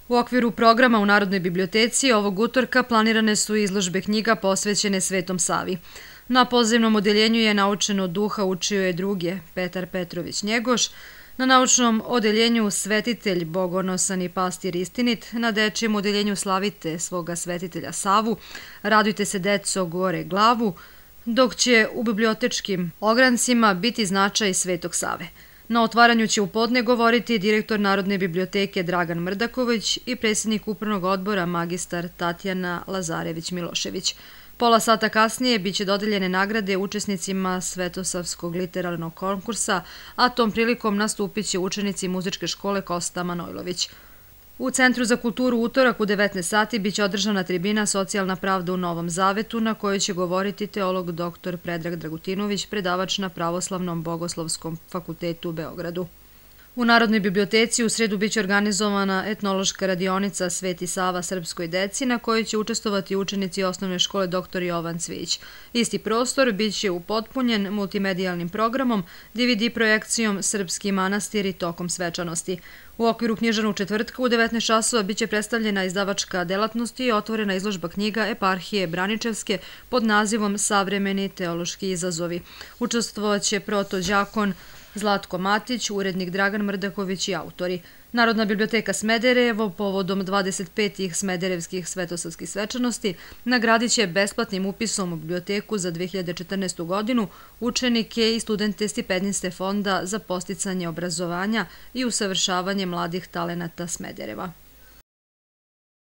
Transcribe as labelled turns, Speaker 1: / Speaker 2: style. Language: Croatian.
Speaker 1: U okviru programa u Narodnoj biblioteci ovog utorka planirane su izložbe knjiga posvećene Svetom Savi. Na pozivnom odeljenju je naučeno duha učio je druge Petar Petrović Njegoš, na naučnom odeljenju svetitelj bogonosan i pastir istinit, na dečijem odeljenju slavite svoga svetitelja Savu, radujte se deco gore glavu, dok će u bibliotečkim ograncima biti značaj Svetog Save. Na otvaranju će u podne govoriti direktor Narodne biblioteke Dragan Mrdaković i predsjednik upravnog odbora magistar Tatjana Lazarević-Milošević. Pola sata kasnije biće dodeljene nagrade učesnicima Svetosavskog literarnog konkursa, a tom prilikom nastupit će učenici muzičke škole Kosta Manojlović. U Centru za kulturu utorak u 19 sati biće održana tribina Socijalna pravda u Novom Zavetu, na kojoj će govoriti teolog dr. Predrag Dragutinović, predavač na Pravoslavnom bogoslovskom fakultetu u Beogradu. U Narodnoj biblioteci u sredu biće organizovana etnološka radionica Sveti Sava srpskoj deci, na kojoj će učestvovati učenici osnovne škole dr. Jovan Cvić. Isti prostor biće upotpunjen multimedijalnim programom, DVD projekcijom Srpski manastiri tokom svečanosti. U okviru književnog četvrtka u 19 časova biće predstavljena izdavačka delatnost i otvorena izložba knjiga Eparhije Braničevske pod nazivom Savremeni teološki izazovi. Učestvovaće protođakon Zlatko Matić, urednik Dragan Mrdaković i autori. Narodna biblioteka Smederevo povodom 25. Smederevskih svetosavskih svečanosti nagradit će besplatnim upisom u biblioteku za 2014. godinu učenike i studente stipendiste Fonda za podsticanje obrazovanja i usavršavanje mladih talenata Smedereva.